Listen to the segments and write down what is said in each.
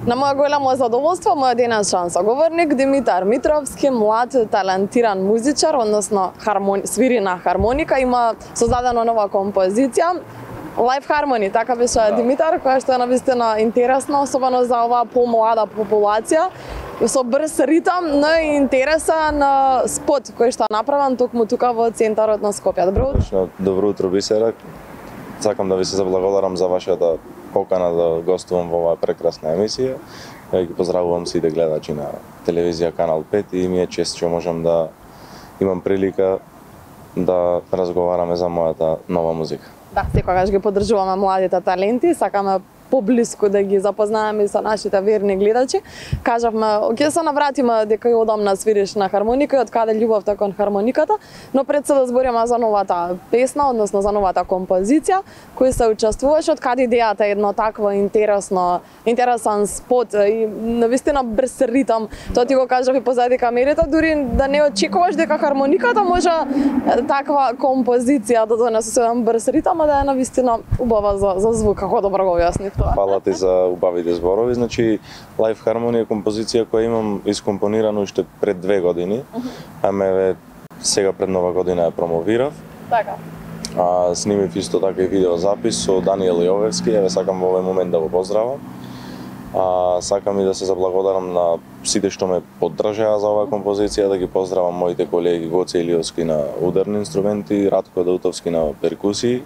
На моја голямо задоволство, мојот денешен соговорник Димитар Митровски, млад талантиран музичар, односно свири на хармоника, има создадена нова композиција Live Harmony, така беше Димитар, која што е навистина интересна, особено за оваа помлада популација, со брз ритам, но и интересен спот кој што е направен токму тука во центарот на Скопје. Добро утро. Добро утро, Бисера. Сакам да ви се заблагодарам за вашата покана да гостувам во оваа прекрасна емисија. Ја ги поздравувам сите гледачи на телевизија Канал 5 и ми е чест што можам да имам прилика да разговараме за мојата нова музика. Да, секогаш ги поддржуваме младите таленти, сакаме поблиску да ги запознаеме со нашите верни гледачи. Кажавме, ќе се навратиме дека ја одамна свириш на хармоника и од каде љубовта кон хармониката, но пред се да збориме за новата песна, односно за новата композиција, кој се учествуваш, од каде идејата е едно такво интересен спот и навистина брз ритам. Тоа ти го кажав и позади камерите, дури да не очекуваш дека хармониката може таква композиција да донесе со еден брз ритам, а да е навистина убава за звук, како добро го објаснив. Фала ти за убавите зборови. Значи, Live Harmony е композиција која имам искомпонирана уште пред 2 години, аме сега пред нова година ја промовирав. Така. Снимив исто така и видеозапис со Даниел Јовевски, еве сакам во овој момент да го поздравам. Сакам и да се заблагодарам на сите што ме поддржаа за оваа композиција, да ги поздравам моите колеги Гоце Илиовски на ударни инструменти, Радко Даутовски на перкусии,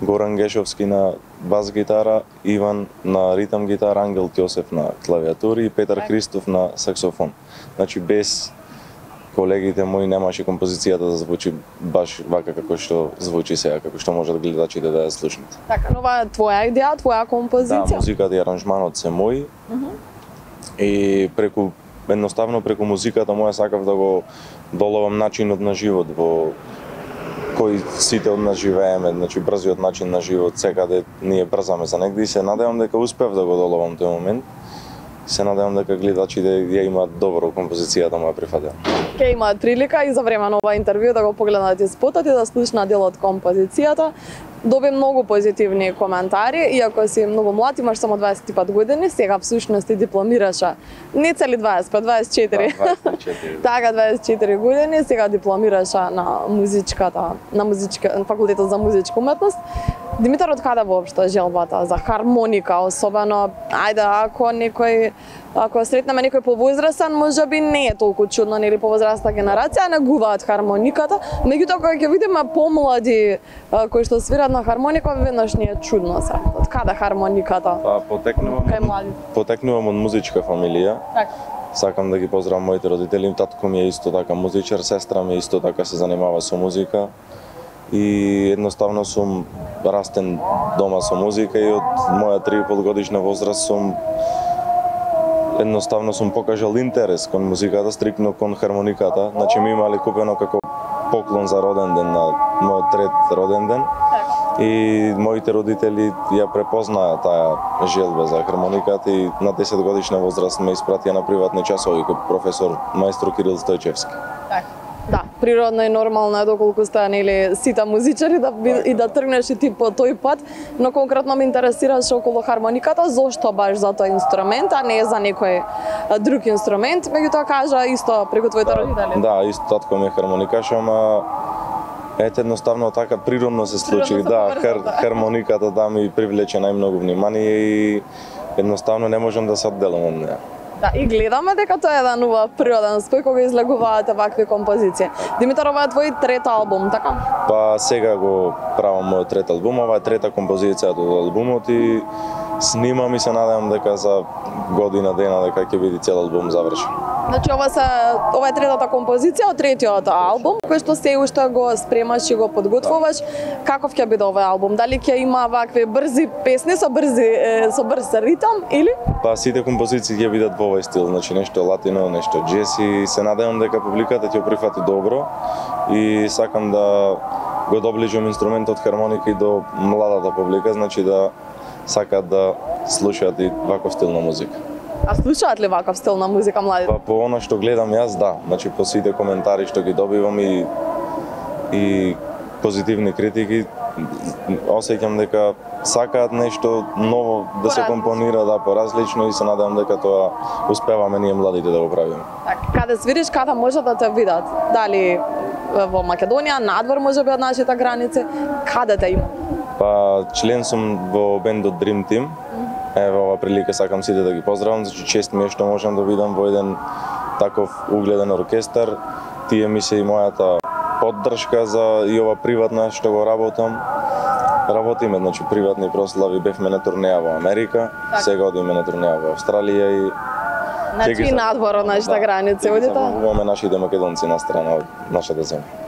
Горан Гешовски на бас гитара, Иван на ритам гитара, Ангел Ќосев на клавиатури и Петар Христов на саксофон. Значи без колегите мои немаше композицијата да звучи баш вака како што звучи сега, како што можат гледачите да ја слушнат. Така, нова е твоја идеја, твоја композиција? Да, музиката и аранжманот се мои. И едноставно преку музиката моја сакав да го доловам начинот на живот во кој сите од нас живееме, значи брзиот начин на живот, секаде ние брзаме за негде и се надевам дека успев да го доловам тој момент. Се надевам дека гледачите ја имаат добро композицијата моја прифатена. Ке имаат прилика и за време на ова интервју да го погледнат и спотот и да слушнат дел од композицијата. Доби многу позитивни коментари, иако си многу млад, имаш само 25 години, сега всушност ти дипломираше не цели 25, 24. Да, 24. Така, 24 години, сега дипломираше на факултетот за музичка уметност. Димитар, од каде воопшто желбата за хармоника, особено, ако сретнеме некој повозрастен, можеби не е толку чудно, нели повозрастна генерација негуваат хармониката, меѓутоа кога ќе видиме помлади кои што свират на хармоника, веднаш не е чудно се. Од каде хармониката? Потекнувам од музичка фамилија. Така. Сакам да ги поздравам моите родители, татко ми е исто така музичар, сестра ми исто така се занимава со музика. И едноставно сум растен дома со музика и од моја 3,5 годишна возраст едноставно сум покажал интерес кон музиката, стрикно кон хармониката. Значи ми имале купено како поклон за роден ден на мојот 3 роден ден. И моите родители ја препознаа таа желба за хармониката и на 10 годишна возраст ме испратија на приватни часови кој професор маестро Кирил Стојчевски. Да, природно и нормално е доколку сте нели сите музичари и да тргнеш и ти по тој пат, но конкретно ме интересираше околу хармониката, зошто баш за тој инструмент, а не за некој друг инструмент, меѓутоа кажа исто преку твоите родители. Да, исто татко ми е хармоникаш, ама ете едноставно така природно се случи, да, хармониката да ми привлече најмногу внимание и едноставно не можам да се одделам од неа. Да, и гледаме дека тоа е еден убав природен спој кога излегуваат вакви композиции. Димитар, ова е твој 3-ти албум, така? Па сега го правам мојот 3-ти албум, ова е 3-та композиција од албумот и снимам и се надевам дека за година дена дека ќе биде цел албум завршен. Значи ова е 3-та композиција од 3-тиот албум, кој што се уште го спремаш и го подготвуваш. Каков ќе биде овој албум? Дали ќе има вакви брзи песни со брз ритам или? Па сите композиции ќе бидат во овој стил, значи нешто латино, нешто джез и се надевам дека публиката ќе го прифати добро и сакам да го доближам инструментот хармоника и до младата публика, значи да сакаат да слушаат и ваков стил на музика. А слушаат ли ваков стил на музика младите? Па по она што гледам јас, да. Значи по сите коментари што ги добивам и позитивни критики, осеќам дека сакаат нешто ново да се компонира, да, поразлично, и се надевам дека тоа успеваме ние младите да го правиме. Така, каде свириш, каде може да те видат? Дали во Македонија, надвор можеби од нашите граници, каде те има? Па член сум во бендот Dream Team. Ево, ова прилика сакам сите да ги поздравам, значи чест ми е што можам да видам во еден таков угледен оркестар. Тие ми се и мојата поддршка за и ова приватна што го работам. Работиме, значи приватни прослави, бевме на турнеја во Америка, сега одиме на турнеја во Австралија и значи и надвор од нашите граници, одите? Имаме нашите македонци на страна од нашата земја.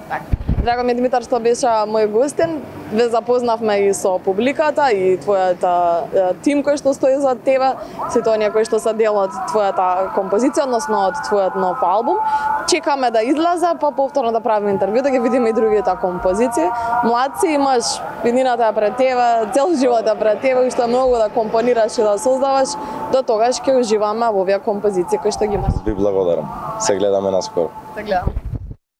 Драго ми Димитар што беше мој гостин, ве запознавме и со публиката и твојата тим кој што стои за тебе, сите оние кои што се дел од твојата композиција, односно од твојот нов албум. Чекаме да излезе, па повторно да правиме интервју, да ги видиме и другите композиции. Млад си, имаш виднината пред тебе, цел живот пред тебе, уште многу да компонираш и да создаваш. До тогаш ќе уживаме во овие композиции кои што ги имаш. Ви благодарам. Се гледаме наскоро. Се гледаме.